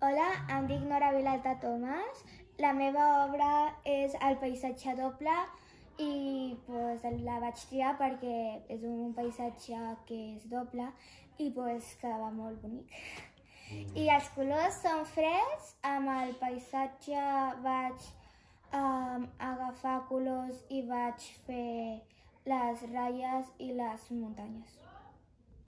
Hola, em dic Nora Vilalta Tomàs. La meva obra és El paisatge doble i la vaig triar perquè és un paisatge que és doble i quedava molt bonic. I els colors són freds. Amb el paisatge vaig agafar colors i vaig fer les ratlles i les muntanyes.